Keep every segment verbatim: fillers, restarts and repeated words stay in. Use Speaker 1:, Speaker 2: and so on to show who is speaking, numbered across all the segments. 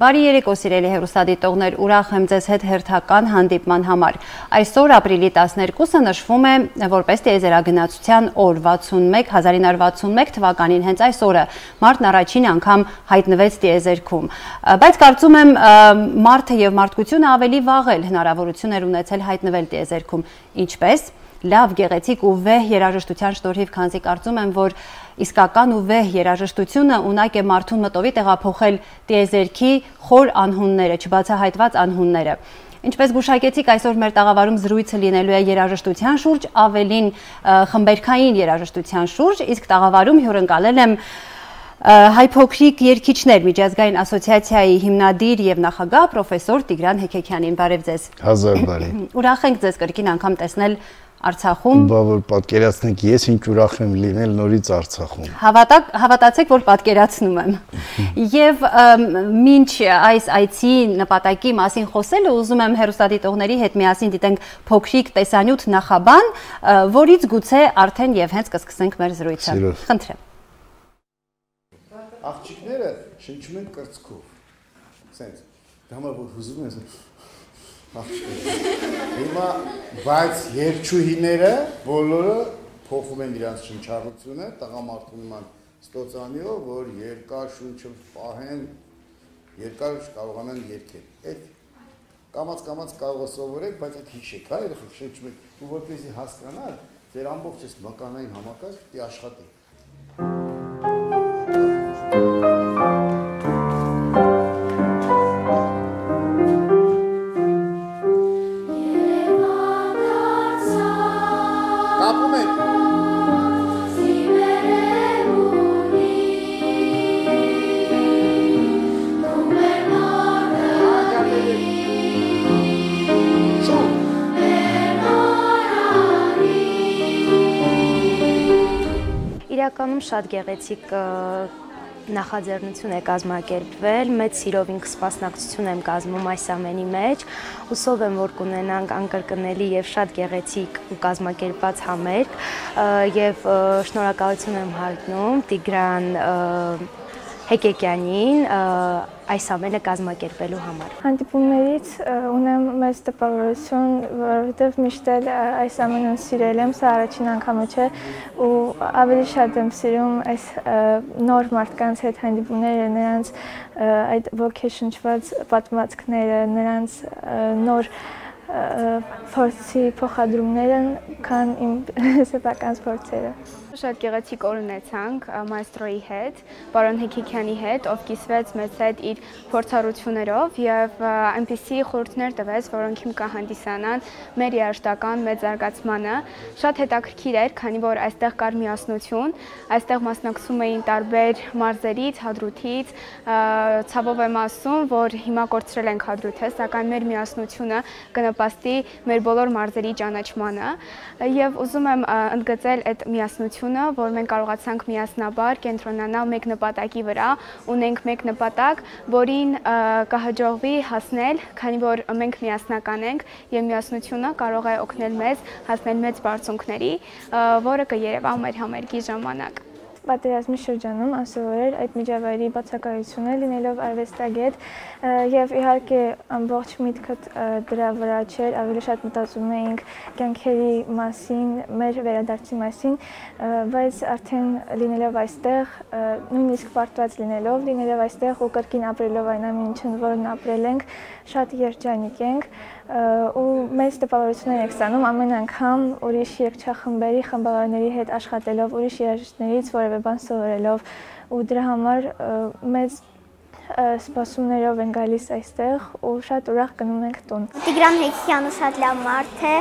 Speaker 1: Բարի երեկո սիրելի հեռուստադիտողներ, ուրախ եմ ձեզ հետ հերթական հանդիպման համար։ Այսօր ապրիլի տասներկուսը նշվում է որպես տիեզերագնացության օր, հազար ինը հարյուր վաթսունմեկ թվականին հենց այս օրը մարդն առաջին անգամ հայտնվեց տիեզերքում։ Բայց կարծում եմ մարդը եւ մարդկությունը ավելի վաղ էլ հնարավորություն էր ունեցել հայտնվել տիեզերքում, ինչպես լավ, գեղեցիկ ու վեհ երաժշտության շնորհիվ, քանզի կարծում եմ, որ իսկական ու վեհ երաժշտությունը ունակ է մարդուն մտովի տեղափոխել տիեզերքի խոր անհունները, չբացահայտված անհունները։ Ինչպես գուշակեցիք, այսօր մեր տաղավարում զրույցը լինելու է երաժշտության շուրջ, ավելին խմբերքային երաժշտության շուրջ, իսկ տաղավարում հյուրընկալել եմ Հայ փոքրիկ երգիչներ միջազգային ասոցիացիայի հիմնադիր եւ նախագահ պրոֆեսոր Տիգրան Հեքեքյանին։ Բարև ձեզ։
Speaker 2: Հազար բարի։
Speaker 1: Ուրախ ենք ձեզ կրկին անգամ տեսնել Արցախում։
Speaker 2: Բա որ պատկերացնեք, ես ինչ ուրախ եմ լինել նորից Արցախում։
Speaker 1: Հավատացեք, որ պատկերացնում եմ։ Եվ մինչ այս այցի նպատակի մասին խոսելը, ուզում եմ հեռուստադիտողների հետ միասին դիտենք փոքրիկ տեսանյութ նախաբան, որից գուցե արդեն եւ հենց կսկսենք մեր զրույցը։ Խնդրեմ։
Speaker 2: Աղջիկները շնչում են կրծքով, սենց, դամա որ հուզում են, աղջիկները, հիմա, բայց երջուհիները բոլորը փոխում են իրանց շնչառությունը, տղամարդու նման ստոցանիով, որ երկար շունչը պահեն, երկար կարողանան երգել, այդ կամաց-կամաց կարող է սովորեք, բայց այդ հիշեք, հա, երեխեք շնչում եք, ու որպեսզի հասկանալ, ձեր ամբողջ այս մկանային համակարգ պիտի աշխատի։
Speaker 3: Իրականում շատ գեղեցիկ նախաձեռնություն է կազմակերպվել, մեծ սիրով ինքս սպասնակցություն եմ կազմում այս ամենի մեջ, հուսով եմ, որ կունենանք անկրկնելի եւ շատ գեղեցիկ ու կազմակերպված համերգ եւ շնորհակալություն եմ հայտնում Տիգրան Հեքեքյանին այս ամենը կազմակերպելու համար։
Speaker 4: Հանդիպումներից ունեմ մեծ տպավորություն, որովհետև միշտ էլ այս ամենը սիրել եմ, սա առաջին անգամը չէ ու ավելի շատ եմ սիրում այս նոր մարդկանց հետ հանդիպումները, նրանց այդ ոգեշնչված պատմվածքները, նրանց նոր փորձի փոխադրումները, քան իմ սեփական փորձերը։
Speaker 5: Շատ գեղեցիկ օր ունեցանք մայստրոյի հետ, պարոն Հեքեքյանի հետ, ով կիսվեց մեզ հետ իր փորձառություններով եւ այնպիսի խորհուրդներ տվեց, որոնք հիմք կհանդիսանան մեր երաժշտական մեծ զարգացմանը։ Շատ հետաքրքիր էր, քանի որ այստեղ կար միասնություն, այստեղ մասնակցում էին տարբեր մարզերից, հադրութից, ցավով եմ ասում, որ հիմա կորցրել ենք հադրութը, սակայն մեր միասնությունը կնպաստի մեր բոլոր մարզերի ճանաչմանը եւ ուզում եմ ընդգծել այդ միասնությունը, որ մենք կարողացանք միասնաբար կենտրոնանալ մեկ նպատակի վրա, ունենք մեկ նպատակ, որին կհաջողվի հասնել, քանի որ մենք միասնական ենք եւ միասնությունը կարող է օգնել մեզ հասնել մեծ բարձունքների, որը կերևա մեր համերգի ժամանակ։
Speaker 4: Պատերազմի շրջանում անսովոր այդ միջավայրի բացակայությունը լինելով արվեստագետ եւ իհարկե ամբողջ միտքը դրա վրա չէր, ավելի շատ մտածում էինք կյանքերի մասին, մեր վերադարձի մասին, բայց արդեն լինելով այստեղ, նույնիսկ պարտված լինելով, լինելով այստեղ ու կրկին ապրելով այն ամենին, որն ապրել ենք, շատ երջանիկ ենք ու մեծ տպավորություն ենք ստանում ամեն անգամ ուրիշ երգչախմբերի խմբավորների հետ աշխատելով, ուրիշ երաժիշտներից որևէ բան սովորելով ու դրա համար մեծ սպասումներով են գալիս այստեղ ու շատ ուրախ գնում ենք տուն։
Speaker 6: Տիգրան Հեքեքյանը շատ լավ մարդ է,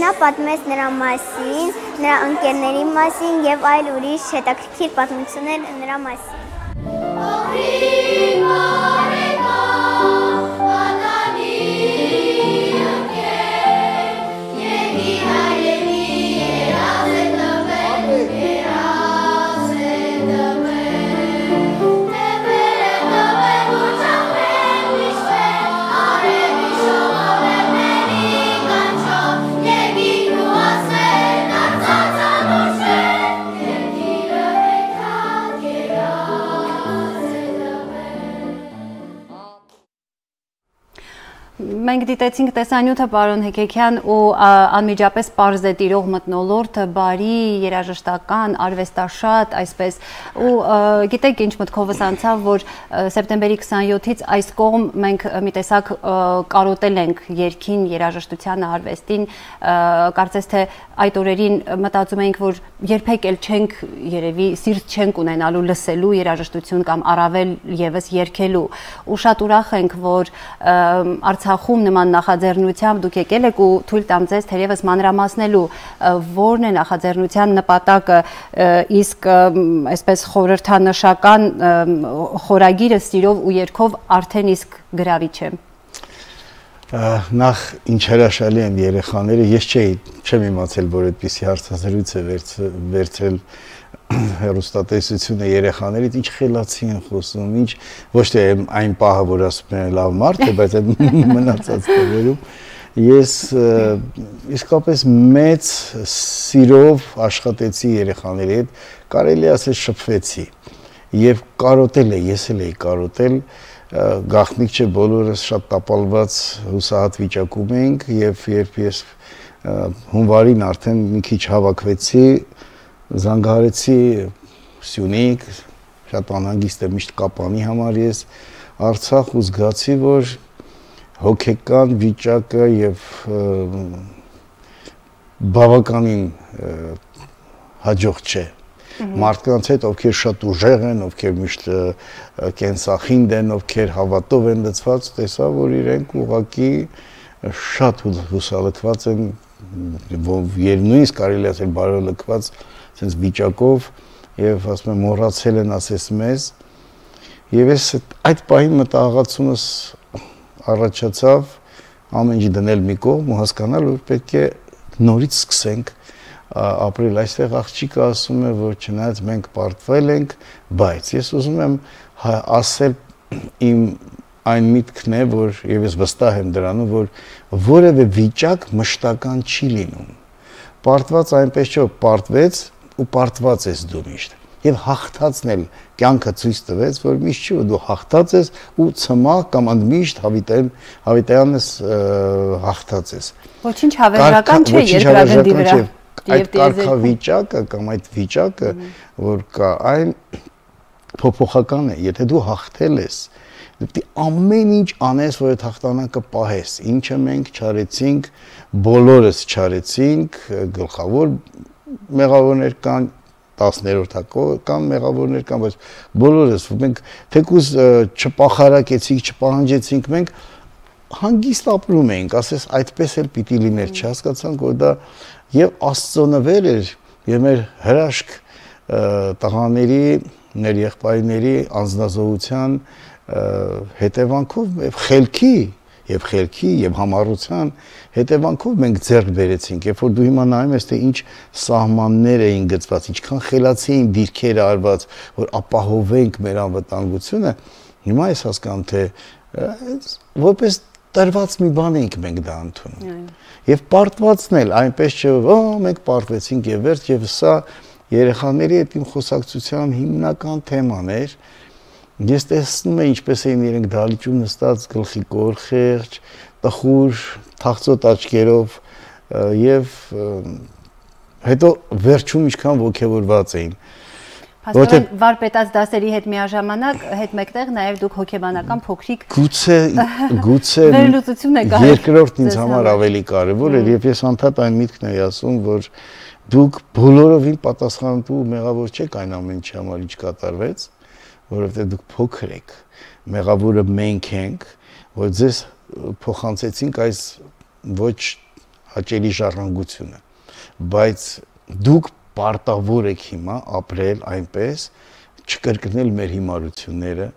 Speaker 6: նա պատմեց նրա մասին, նրա ընկերների մասին եւ այլ ուրիշ հետաքրքիր պատմություններ նրա մասին։
Speaker 7: Yeah.
Speaker 1: Մենք դիտեցինք տեսանյութը պարոն Հեկեքյան ու անմիջապես պարզ է տիրող մթնոլորտը, բարի, երաժշտական, արվեստաշատ, այսպես ու գիտեք ինչ մտքովս անցավ, որ սեպտեմբերի քսանյոթից այս կողմ մենք մի տեսակ կարոտել ենք երգին, երաժշտությանը, արվեստին, կարծես թե այդ օրերին մտածում էինք, որ երբեք էլ չենք երևի սիրտ չենք ունենալու լսելու երաժշտություն կամ առավել եւս երգելու ու շատ ուրախ ենք, որ Արցախում նման նախաձեռնությամբ դուք եկել եք ու թույլ տամ ձեզ թերևս մանրամասնելու որն է նախաձեռնության նպատակը, իսկ այսպես խորհրդանշական խորագիրը սիրով ու երգով արդեն իսկ գրավիչ է։
Speaker 7: Նախ ինչ հրաշալի են երեխաները, ես չէի, չեմ իմացել, որ այդպիսի հարցազրույց է վերցրել հեռուստատեսությունը երեխաներից, ինչ խելացի են խոսում, ինչ ոչ թե այն պահը, որ ասում են լավ մարդ է, բայց այդ մնացած տեղերում ես իսկապես մեծ սիրով աշխատեցի երեխաների հետ, կարելի ասել շփվեցի եւ կարոտել է, ես էլ էի կարոտել, գաղտնիք չէ, բոլորս շատ տապալված հուսահատ վիճակում էինք եւ երբ ես հունվարին արդեն մի քիչ հավաքվեցի, զանգահարեցի Սյունիք, շատ անհանգիստ եմ միշտ Կապանի համար ես Արցախ ու զգացի, որ հոգեկան վիճակը եւ բավականին հաջող չէ։ Մարդկանց հետ, ովքեր շատ ուժեղ են, ովքեր միշտ կենսախինդ են, ովքեր հավատով են լցված, տեսա, որ իրենք ուղղակի շատ հուսալքված են, նույնիսկ կարելի ասել բարելքված sense վիճակով եւ ասում եմ մոռացել են ասես մեզ եւ ես այդ պահին մտահղացումս առաջացավ ամեն ինչ դնել մի կողմ ու հասկանալ որ պետք է նորից սկսենք ապրել այստեղ աղջիկը ասում է որ չնայած մենք պարտվել ենք բայց ես ուզում եմ ասել իմ այն միտքն է որ եւ ես վստահ եմ դրանում որ որևէ վիճակ մշտական չի լինում պարտված այնպես չէ պարտվեց ու պարտված ես դու միշտ եւ հաղթածն էլ կյանքը ցույց տվեց որ միշտ չի որ դու հաղթած ես ու ցմահ կամ ընդմիշտ հավիտյան հավիտյանն ես հաղթած ես
Speaker 1: ոչինչ հավերժական չէ երկրագնդի վրա
Speaker 7: այդ կարգավիճակը կամ այդ վիճակը որ կա այն փոփոխական է եթե դու հաղթել ես դու ամեն ինչ անես որ այդ հաղթանակը պահես ինչը մենք չարեցինք բոլորս չարեցինք գլխավոր մեղավորներ կան տասներորդ կան մեղավորներ կան բայց բոլորս մենք թեկուզ չպախարակեցինք չպահանջեցինք մենք հանգիստ ապրում էինք ասես այդպես էլ պիտի լիներ չհասկացանք որ դա եւ Աստծո նվեր էր եւ մեր հրաշք տղաների մեր եղբայրների անձնազոհության հետևանքով եւ խելքի եւ խելքի եւ համառության հետևանքով մենք ձեռք բերեցինք երբ որ դու հիմա նայում ես թե ինչ սահմաններ էին գծված ինչքան խելացի էին դիրքերը արված որ ապահովենք մեր անվտանգությունը հիմա ես հասկանում թե որպես տրված մի բան ենք մենք դա ընդունում եւ պարտվածն էլ այնպես չէ օ մենք պարտվեցինք եւ վերջ եւ սա երեխաների հետ իմ խոսակցության հիմնական թեման էր ես տեսնում եմ ինչպես էին իրենք դալիճում նստած գլխի կոր խեղճ տխուր թախծոտ աչքերով եւ հետո վերջում ինչքան ոգևորված էին
Speaker 1: Փաստորեն վարպետաց դասերի հետ միաժամանակ հետ մեկտեղ նաև դուք հոգեբանական փոքրիկ
Speaker 7: գուցե գուցե երկրորդն ինձ համար ավելի կարևոր է եւ ես անդադ այն միտքն եմ ասում որ դուք բոլորովին պատասխանատու մեղավոր չեք այն ամեն ինչի համար ինչ կատարվեց որովհետեւ դուք փոքր եք մեղավորը մենք ենք որ ձեզ փոխանցեցինք այս ոչ հաճելի ժառանգությունը բայց դուք պարտավոր եք հիմա ապրել այնպես, չկրկնել մեր հիմարությունները,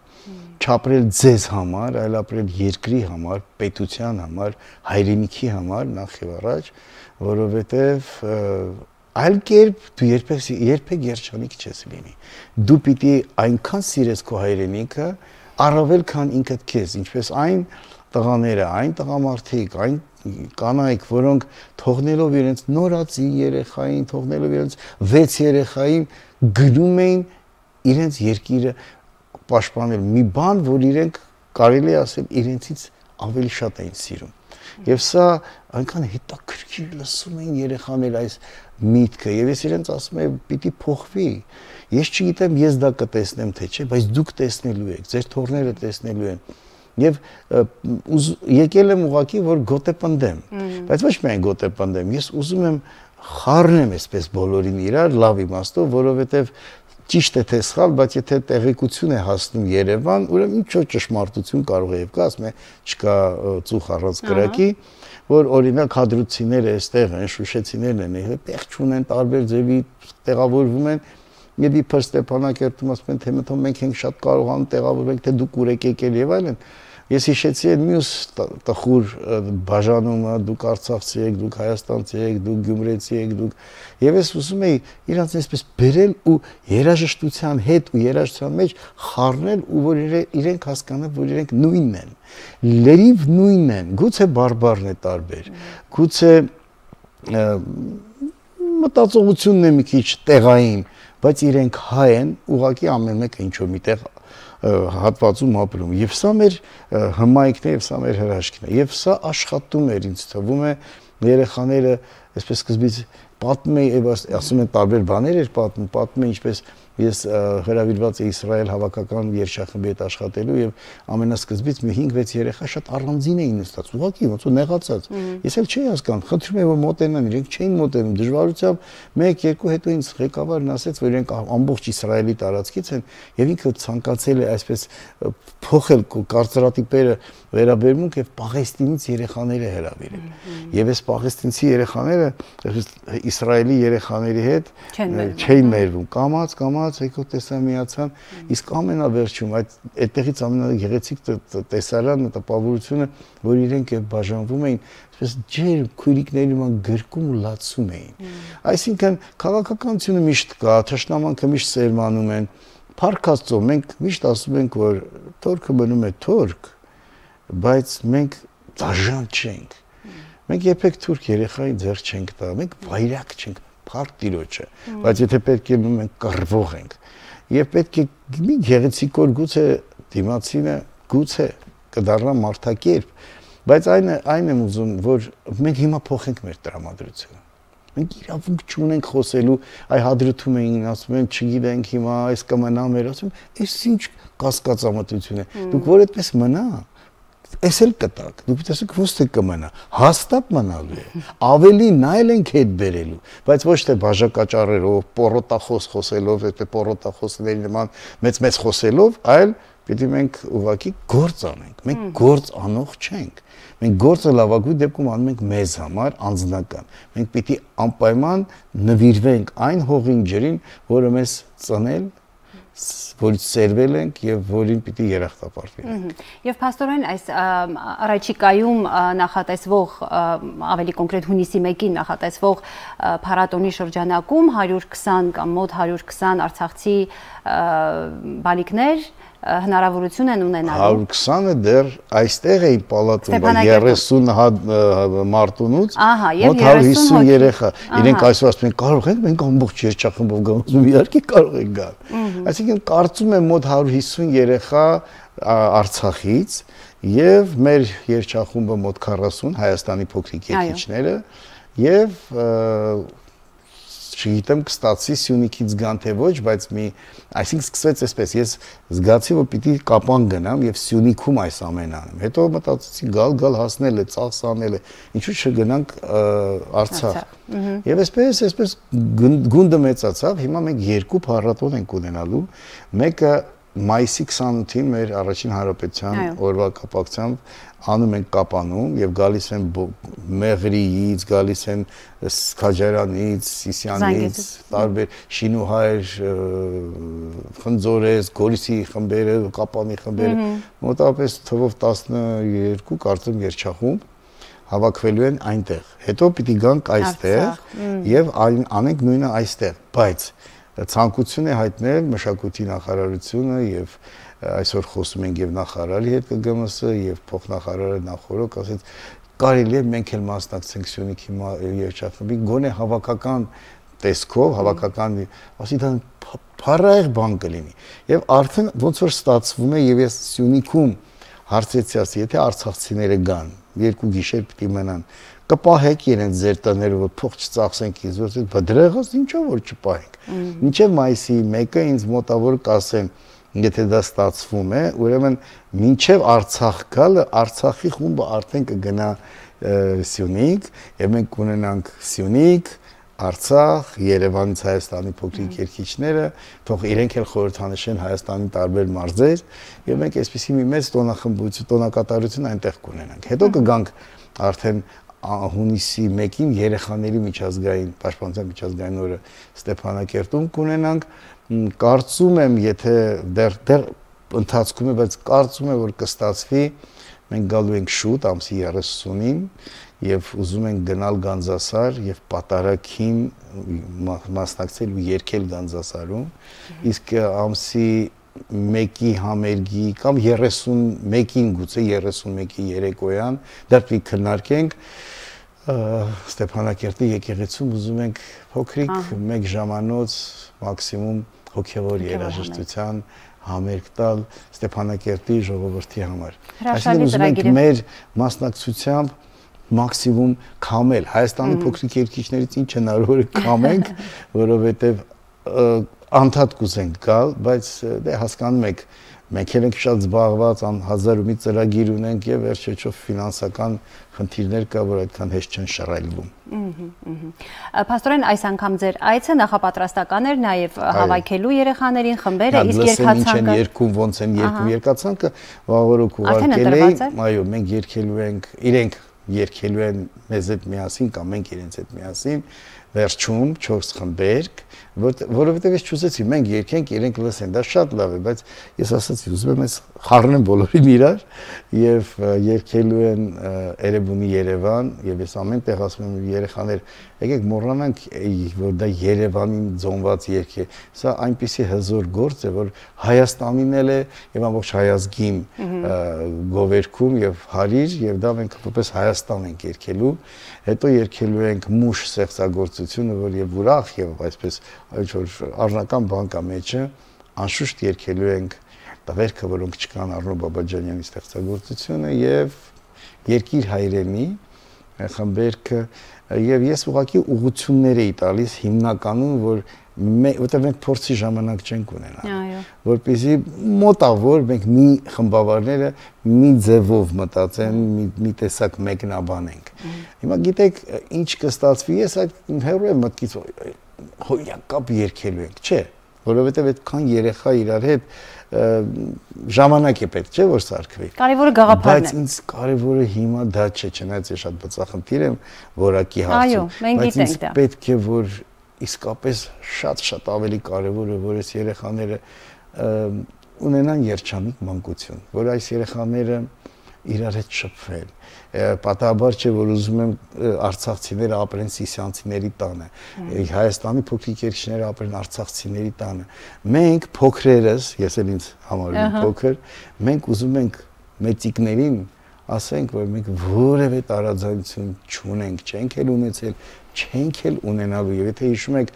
Speaker 7: չապրել ձեզ համար, այլ ապրել երկրի համար, պետության համար, հայրենիքի համար, նախ եւ առաջ, որովհետեւ այլ կերպ դու երբեք երբեք երջանիկ չես լինի։ Դու պիտի այնքան սիրես քո հայրենիքը, առավել քան ինքդ քեզ, ինչպես այն տղաները, այն տղամարդիկ, այն կանայք, որոնք թողնելով իրենց նորածի երեխային, թողնելով իրենց վեց երեխային գնում էին իրենց երկիրը պաշտպանել մի բան, որ իրենք կարելի ասել իրենցից ավելի շատ էին սիրում։ Եվ սա այնքան հետաքրքիր լսում էին երեխաները այս միտքը, եւ ես իրենց ասում եմ, պիտի փոխվի։ Ես չգիտեմ, ես դա կտեսնեմ թե չէ, բայց դուք տեսնելու եք, ձեր թորները տեսնելու են։ Եվ եկել եմ ուղղակի, որ գոտեպնդեմ, բայց ոչ միայն գոտեպնդեմ, ես ուզում եմ խառնեմ այսպես բոլորին իրար լավ իմաստով, որովհետև ճիշտ է թե սխալ, բայց եթե տեղեկություն է հասնում Երևան, ուրեմն ինչ որ ճշմարտություն կարող է եւ կա, ասում է, չկա ծուխ առանց կրակի, որ օրինակ հադրուցիները այստեղ են, շուշեցիներն են, տեղ չունեն, տարբեր ձևի տեղավորվում են, եւ իբր Ստեփանակերտում ասում են, թե մտնում մենք ենք շատ կարողանում տեղավորենք, թե դուք ուր եք եկել եւ այլն։ Ես հիշեցի այդ մյուս տխուր բաժանումը, դուք արցախցի եք, դուք հայաստանցի եք, դուք գյումրեցի եք, դուք եւ ես ուզում էի իրանց այսպես բերել ու երաժշտության հետ ու երաժշտության մեջ խառնել ու որ իրենք հասկանան, որ իրենք նույնն են, լրիվ նույնն են, գուցե բարբառն է տարբեր, գուցե մտածողությունն է մի քիչ տեղային, բայց իրենք հայ են, ուղղակի ամեն մեկը ինչ որ միտեղ հատվածում ապրում եւ սա մեր հմայքն է եւ սա մեր հրաշքն է եւ սա աշխատում էր ինձ թվում է երեխաները այսպես սկզբից պատմում էի եւ ասում են տարբեր բաներ էր պատմում պատմում են ինչպես ես հրավիրված էի Իսրայել հավաքական երգչախմբի հետ աշխատելու եւ ամենասկզբից մի հինգ վեց երեխա շատ առանձին էին նստած ուղղակի ոնց որ նեղացած ես էլ չէի հասկանում խնդրում եմ որ մոտենան իրենք չէին մոտենում դժվարությամբ մեկ երկու հետո ինձ ղեկավարն ասեց որ իրենք ամբողջ Իսրայելի տարածքից են եւ ինքը ցանկացել է այսպես փոխել կարծրատիպերը վերաբերմունք եւ Պաղեստինից երեխաները հրավիրել եւ այս պաղեստինցի երեխաները Իսրայելի երեխաների հետ չէին մերվում կամած կամած եկո տեսա միացան իսկ ամենավերջում այդ այդտեղից ամենագեղեցիկ տեսարանն տպավորությունը որ իրենք եւ բաժանվում էին այսպես ջեր քույրիկների նման գրկում ու լացում էին այսինքն քաղաքականությունը միշտ կա թշնամանքը միշտ սերմանում են Փառք Աստծո մենք միշտ ասում ենք որ թորքը մնում է թորք բայց մենք դաժան չենք մենք երբեք թուրք երեխային ձեռ չենք տա մենք վայրակ չենք Փառք Տիրոջը բայց եթե պետք է մենք կռվող ենք եւ պետք է մի գեղեցիկ օր գուցե դիմացինը գուցե կդառնա մարդակերպ բայց այն այն եմ ուզում որ մենք հիմա փոխենք մեր տրամադրությունը մենք իրավունք չունենք խոսելու այ հադրութում էին ասում են չգիտենք հիմա այս կմնա մեր ասում այս ինչ կասկածամտություն է դուք որ այդպես մնա Այս էլ կտակ, դուք տեսեք ոստ է կմնա, հաստատ մնալու է, ավելի նայել ենք հետ բերելու, բայց ոչ թե բաժակաճառերով, պորոտախոս խոսելով, եթե պորոտախոսների նման մեծ-մեծ խոսելով, այլ պիտի մենք ուղղակի գործ անենք, մենք գործ անող չենք, մենք գործը լավագույն դեպքում անում ենք մեզ համար անձնական, մենք պիտի անպայման նվիրվենք այն հողին ջրին, որը մեզ ծնել որից սերվել ենք եւ որին պիտի երախտապարտվենք։
Speaker 1: Եվ փաստորեն այս առաջիկայում նախատեսվող ավելի կոնկրետ հունիսի մեկին նախատեսվող փառատոնի շրջանակում հարյուր քսան կամ մոտ հարյուր քսան արցախցի բալիկներ հնարավորություն են ունենալու
Speaker 7: հարյուր քսանը դեռ այստեղ էին պալատում երեսուն մարտունուց մոտ հարյուր հիսուն երեխա իրենք այսօր ասում են կարող ենք մենք ամբողջ երգչախմբով գանձում իհարկե կարող ենք գալ այսինքն կարծում եմ մոտ հարյուր հիսուն երեխա Արցախից եւ մեր երգչախումբը մոտ քառասուն Հայաստանի փոքրիկ երգիչները եւ չգիտեմ կստացի Սյունիքից գան թե ոչ, բայց մի, այսինքն սկսվեց այսպես, ես զգացի, որ պիտի կապան գնամ եւ Սյունիքում այս ամենը անեմ։ Հետո մտածեցի գալ գալ հասնել է, ծախս անել է, ինչու չգնանք Արցախ։ Եվ այսպես, այսպես գունդը մեծացավ, հիմա մենք երկու փառատոն ենք ունենալու, մեկը մայիսի քսանութին մեր առաջին հանրապետության օրվա կապակցությամբ անում ենք Կապանում եւ գալիս են Մեղրիից, գալիս են Քաջարանից, Սիսյանից, տարբեր Շինուհայր, Խնձորես, Գորիսի խմբերը, Կապանի խմբերը, մոտավորապես թվով տասներկու կարծեմ երգչախումբ հավաքվելու են այնտեղ։ Հետո պիտի գանք այստեղ եւ անենք նույնը այստեղ, բայց ցանկություն է հայտնել մշակույթի նախարարությունը եւ այսօր խոսում ենք եւ նախարարի հետ ԿԳՄՍ եւ փոխնախարարը նախորդ ասեց կարելի է մենք էլ մասնակցենք Սյունիքի երգչախմբի գոնե հավաքական տեսքով հավաքական ասի դա փառահեղ բան կլինի եւ արդեն ոնց որ ստացվում է եւ ես Սյունիքում հարցեցիաց, եթե արցախցիները գան, երկու գիշեր պիտի մնան, կպահեք իրենց ձեր տները, որ փող չծախսենք ինձ, որ դրա եղած ինչա որ չպահենք։ Մինչև մայիսի մեկը ինձ մոտավոր կասեն, եթե դա ստացվում է, ուրեմն մինչև Արցախ գալը Արցախի խումբը արդեն կգնա Սյունիք, եւ մենք կունենանք Սյունիք, Արցախ, Երևանից Հայաստանի փոքրիկ երկիչները, թող իրենք էլ խորհրդանշեն Հայաստանի տարբեր մարզեր, եւ մենք այսպեսի մի մեծ տոնախմբություն, տոնակատարություն այնտեղ կունենանք։ Հետո կգանք արդեն հունիսի մեկին երեխաների միջազգային պաշտպանության միջազգային օրը Ստեփանակերտում կունենանք, կարծում եմ, եթե դեռ դեռ ընթացքում է, բայց կարծում եմ, որ կստացվի, մենք գալու ենք շուտ ամսի երեսունին եւ ուզում ենք գնալ Գանձասար եւ պատարագին մասնակցել ու երգել Գանձասարում, իսկ ամսի մեկի համերգի կամ երեսունմեկին գուցե երեսունմեկի երեկոյան դա պիտի քննարկենք Ստեփանակերտի եկեղեցում ուզում ենք փոքրիկ մեկ ժամանոց մաքսիմում հոգևոր երաժշտության համերգ տալ Ստեփանակերտի ժողովրդի համար։ Այսինքն ուզում ենք մեր մասնակցությամբ մաքսիմում քամել Հայաստանի փոքրիկ երկիչներից ինչ հնարավոր է քամենք, որովհետև անդադ կուզենք գալ, բայց դե հասկանում եք, մենք էլ ենք շատ զբաղված, հազար ու մի ծրագիր ունենք եւ վերջեջով ֆինանսական խնդիրներ կա, որ այդքան հեշտ չեն շռայլվում։
Speaker 1: Փաստորեն այս անգամ ձեր այցը նախապատրաստական էր նաեւ հավաքելու երեխաներին խմբերը, իսկ երկացանկը
Speaker 7: երկում ոնց են երկում երկացանկը վաղորոք ուղարկել էի, այո, մենք երկելու ենք, իրենք երկելու են մեզ հետ միասին կամ մենք իրենց հետ միասին վերջում չորս խմբերք, որովհետև ես չուզեցի, մենք երկենք, իրենք լսեն, դա շատ լավ է, բայց ես ասացի, ուզում եմ ես խառնեմ բոլորին իրար եւ երկելու են Էրեբունի Երևան եւ ես ամեն տեղ ասում եմ երեխաներ, եկեք մոռանանք, որ դա Երևանին ձոնված երգ է, սա այնպիսի հզոր գործ է, որ Հայաստանին էլ է եւ ամբողջ հայազգին գովերքում եւ հարիր եւ դա մենք որպես Հայաստան ենք երկելու, հետո երկելու ենք մուշ ստեղծագործությունը, որ եւ ուրախ եւ այսպես ինչ որ առնական բան կա մեջը, անշուշտ երկելու ենք տղերքը, որոնք չկան Արնո Բաբաջանյանի ստեղծագործությունը եւ Երկիր հայրենի խմբերքը եւ ես ուղղակի ուղղություններ էի տալիս հիմնականում, որ որտեղ մենք փորձի ժամանակ չենք ունենա, որպեսզի մոտավոր մենք մի խմբավարները մի ձևով մտածեն, մի տեսակ մեկնաբանենք։ Հիմա գիտեք, ինչ կստացվի, ես այդ հեռու եմ մտքից հոյակապ երկելու ենք, չէ, որովհետև այդքան երեխա իրար հետ ժամանակ է պետք, չէ, որ սարքվի։
Speaker 1: Կարևորը գաղափարն է։
Speaker 7: Բայց ինձ կարևորը հիմա դա չէ, չնայած ես շատ բծախնդիր եմ որակի հարցում, բայց ինձ պետք է, որ իսկապես շատ-շատ ավելի կարևոր է, որ այս երեխաները ունենան երջանիկ մանկություն, որ այս երեխաները իրար հետ շփվել։ Պատահաբար չէ, որ ուզում եմ արցախցիները ապրեն սիսյանցիների տանը, Հայաստանի փոքրիկ երկիչները ապրեն արցախցիների տանը։ Մենք փոքրերս, ես էլ ինձ համարում եմ փոքր, մենք ուզում ենք մեծիկներին ասենք, որ մենք որևէ տարաձայնություն չունենք, չենք էլ ունեցել, չենք էլ ունենալու եւ եթե հիշում եք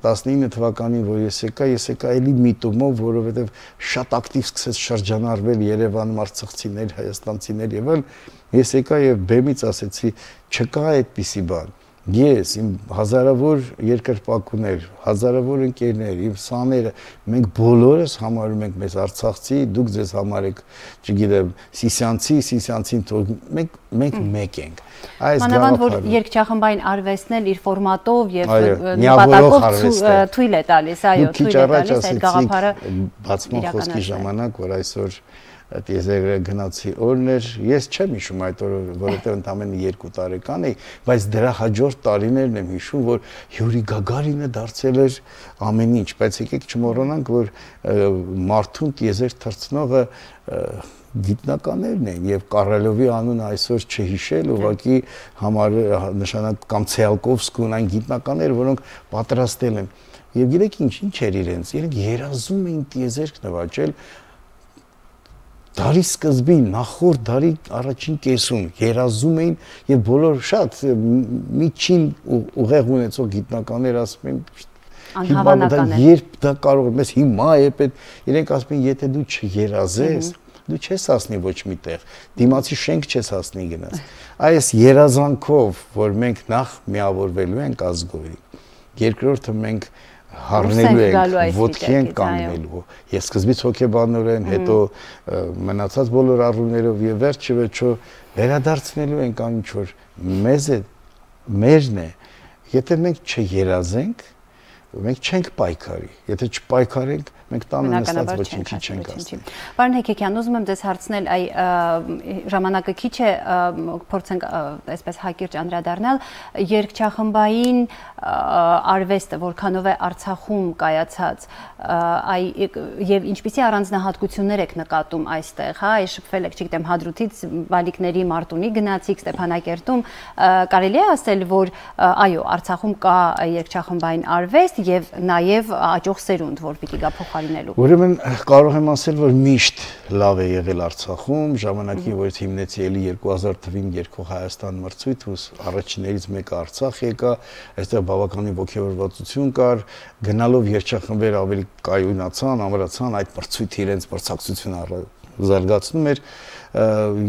Speaker 7: տասնինը թվականին, որ ես եկա, ես եկա էլի միտումով, որովհետեւ շատ ակտիվ սկսեց շրջանառվել Երևանում արցախցիներ, հայաստանցիներ եւ այլ, ես եկա եւ բեմից ասեցի, չկա այդպիսի բան։ Ես, իմ հազարավոր երկրպագուներ, հազարավոր ընկերներ, իմ սաները, մենք բոլորս համարում ենք մեզ արցախցի, դուք ձեզ համարեք, չգիտեմ, սիսյանցի, սիսյանցին թող, մենք մենք մեկ ենք։ Այս
Speaker 1: մանավանդ որ երկչախմբային արվեստն էլ իր ֆորմատով եւ նպատակով թույլ է տալիս, այո, թույլ է տալիս այդ գաղափարը
Speaker 7: բացման խոսքի ժամանակ, որ այսօր Տիեզերը գնացի օրն էր, ես չեմ հիշում այդ օրը, որովհետև ընդամենը երկու տարեկան էի, բայց դրա հաջորդ տարիներն եմ հիշում, որ Յուրի Գագարինը դարձել էր ամեն ինչ, բայց եկեք չմոռանանք, որ մարդուն տիեզեր թռցնողը գիտնականներն են եւ Կառելովի անունը այսօր չհիշել, ուղղակի համար նշանակ կամ Ցեալկովսկուն այն գիտնականներ, որոնք պատրաստել են։ Եվ գիտեք ինչ, ինչ էր իրենց, իրենք երազում էին տիեզերք նվաճել Դարի սկզբին, նախորդ դարի առաջին կեսում երազում էին եւ բոլոր շատ միջին ուղեղ ունեցող գիտնականներ ասում են
Speaker 1: անհավանական է։
Speaker 7: Երբ դա կարող է, մեզ հիմա է պետք, իրենք ասում են, եթե դու չերազես, դու չես հասնի ոչ մի տեղ, դիմացի շենք չես հասնի գնաս։ Այս երազանքով, որ մենք նախ միավորվելու ենք ազգովի, երկրորդը մենք հառնելու ենք, ոտքի ենք կանգնելու։ Ես սկզբից հոգեբանորեն, հետո մնացած բոլոր առումներով եւ վերջը վերջո վերադարձնելու ենք այն ինչ որ մեզ է, մերն է։ Եթե մենք չերազենք, մենք չենք պայքարի։ Եթե չպայքարենք, մենք տանը նստած ոչինչի չենք հասնի։
Speaker 1: Պարոն Հեքիքյան, ուզում եմ ձեզ հարցնել, այ ժամանակը քիչ է, փորձենք այսպես հակիրճ անդրադառնալ, երգչախմբային արվեստը, որքանով է Արցախում կայացած, այ եւ ինչպիսի առանձնահատկություններ եք նկատում այստեղ, հա, այ շփվել եք, չգիտեմ, Հադրութից Բալիկների Մարտունի գնացիք, Ստեփանակերտում, կարելի է ասել, որ այո, Արցախում կա երգչախմբային արվեստ եւ նաեւ աճող սերունդ, որ պիտի գա փոխարինելու։
Speaker 7: Ուրեմն կարող եմ ասել, որ միշտ լավ է եղել Արցախում, ժամանակին որ հիմնեցի էլի երկու հազար թվին երկող Հայաստան մրցույթ, ու առաջիններից մեկը Արցախ եկա, այստեղ բավականին ոգևորվածություն կար, գնալով երգչախմբեր ավելի կայունացան, ամրացան, այդ մրցույթը իրենց մրցակցությունը զարգացնում էր,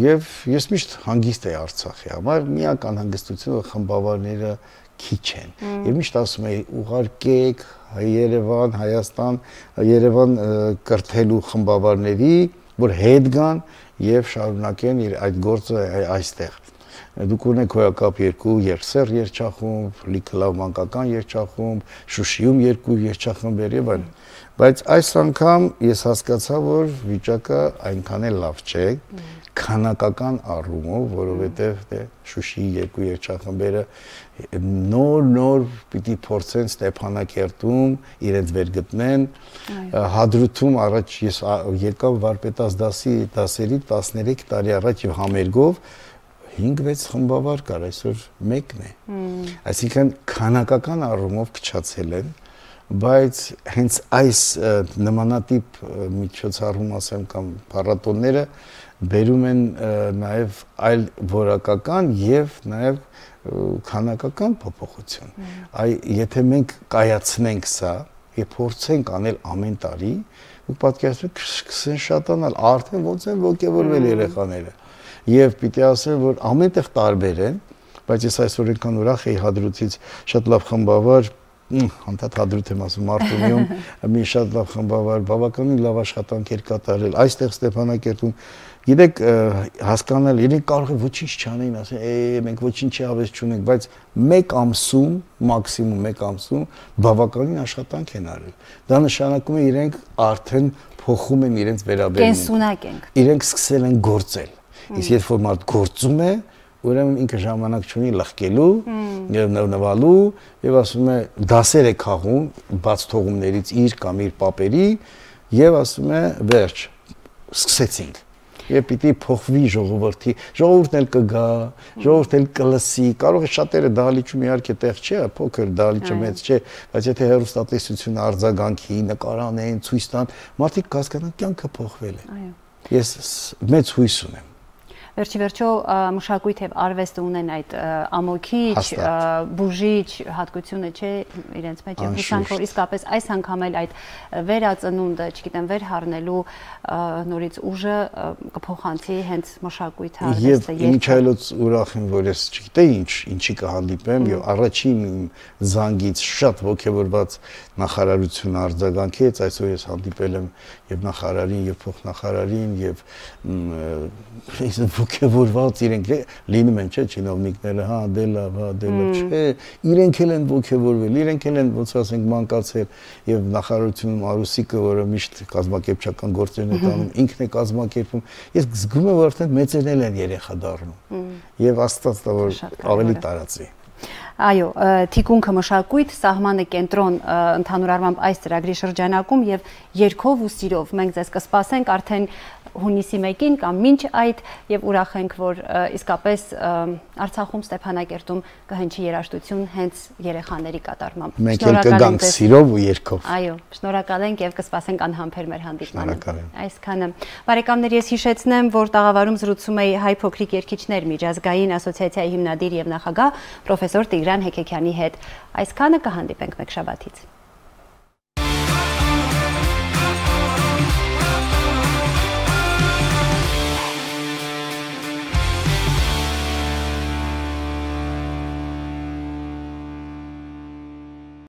Speaker 7: եւ ես միշտ հանգիստ էի Արցախի համար, միակ անհանգստությունը խմբավարները քիչ են։ Եվ միշտ ասում էի ուղարկեք Երևան, Հայաստան, Երևան կրթելու խմբավարների, որ հետ գան եւ շարունակեն այդ գործը այստեղ։ Դուք ունեք հոյակապ երկու երգսեր երգչախումբ, լիքը լավ մանկական երգչախումբ, Շուշիում երկու երգչախմբեր եւ այլն։ Բայց այս անգամ ես հասկացա, որ վիճակը այնքան էլ լավ չէ, քանակական առումով, որովհետեւ դե Շուշիի երկու երգչախմբերը նոր-նոր պիտի փորձեն Ստեփանակերտում իրենց վերգտնեն, Հադրութում առաջ ես եկա վարպետաց դասի դասերի տասներեք տարի առաջ եւ համերգով հինգ-վեց խմբավար կար, այսօր մեկն է։ Այսինքն քանակական առումով փչացել են, բայց հենց այս նմանատիպ միջոցառում ասեմ կամ փառատոները բերում են նաև այլ որակական եւ նաև քանակական փոփոխություն։ Այ եթե մենք կայացնենք սա եւ փորձենք անել ամեն տարի, ու պատկերացրեք կսկսեն շատանալ, արդեն ոնց են ոգևորվել երեխաները։ Եվ պիտի ասեմ, որ ամենտեղ տարբեր են, բայց ես այսօր այնքան ուրախ էի Հադրութից շատ լավ խմբավար, անդադ Հադրութ եմ ասում, Մարտունիում մի շատ լավ խմբավար, բավականին լավ աշխատանք էր կատարել, այստեղ Ստեփանակերտում, գիտեք, հասկանալ, իրենք կարող է ոչինչ չանեն, ասեն, «Է, մենք ոչինչի հավես չունենք», բայց մեկ ամսում, մաքսիմում մեկ ամսում բավականին աշխատանք են արել։ Դա նշանակում է իրենք արդեն փոխում են իրենց վերաբերմունքը։
Speaker 1: Կենսունակ ենք։
Speaker 7: Իրենք սկսել են գործել։ Իսկ երբ որ մարդ գործում է, ուրեմն ինքը ժամանակ չունի լղկելու եւ նվնվալու եւ ասում է դասեր է քաղում բաց թողումներից իր կամ իր պապերի եւ ասում է վերջ սկսեցինք եւ պիտի փոխվի ժողովրդի ժողովուրդն էլ կգա ժողովուրդն էլ կլսի կարող է շատերը դահլիճում իհարկե տեղ չէ փոքր դահլիճը մեծ չէ բայց եթե հեռուստատեսությունը արձագանքի նկարանեն ցույց տան մարդիկ կհասկանան կյանքը փոխվել է այո ես մեծ հույս ունեմ
Speaker 1: Վերջի վերջո մշակույթ եւ արվեստը ունեն այդ ամոքիչ, բուժիչ հատկությունը չէ իրենց մեջ եւ հուսանք որ իսկապես այս անգամ էլ այդ վերածնունդը, չգիտեմ, վերհառնելու նորից ուժը կփոխանցի հենց մշակույթը, արվեստը
Speaker 7: եւ ինչ այլոց ուրախ եմ որ ես չգիտեի ինչ ինչի կհանդիպեմ եւ առաջին զանգից շատ ողջավորված նախարարություն արձագանքեց այսօր ես հանդիպել եմ եւ նախարարին եւ փոխնախարարին եւ ոգևորված իրենք լինում են չէ չինովնիկները հա դե լավ հա դե լավ չէ իրենք էլ են ոգևորվել իրենք էլ են ոնց ասենք մանկացել եւ նախարարությունում Արուսիկը որը միշտ կազմակերպչական գործերն է տանում ինքն է կազմակերպում ես զգում եմ որ արդեն մեծերն են երեխա դառնում եւ աստված տա որ ավելի տարածի
Speaker 1: Այո, թիկունքը մշակույթ, սահմանը կենտրոն ընդհանուր առմամբ այս ծրագրի շրջանակում եւ երգով ու սիրով մենք ձեզ կսպասենք արդեն հունիսի մեկին կամ մինչ այդ եւ ուրախ ենք որ իսկապես Արցախում Ստեփանակերտում կհնչի երաժշտություն հենց երեխաների կատարմամբ։
Speaker 7: Մենք էլ կգանք սիրով ու երգով։
Speaker 1: Այո, շնորհակալ ենք եւ կսպասենք անհամբեր մեր հանդիպմանը։ Այսքանը։ Բարեկամներ, ես հիշեցնեմ, որ տաղավարում զրուցում էի հայ փոքրիկ երգիչներ միջազգային ասոցիացիայի հիմնադիր եւ նախագահ պրոֆեսոր Տիգրան Հեքեքյանի հետ։ Այսքանը կհանդիպենք մեկ շաբաթից։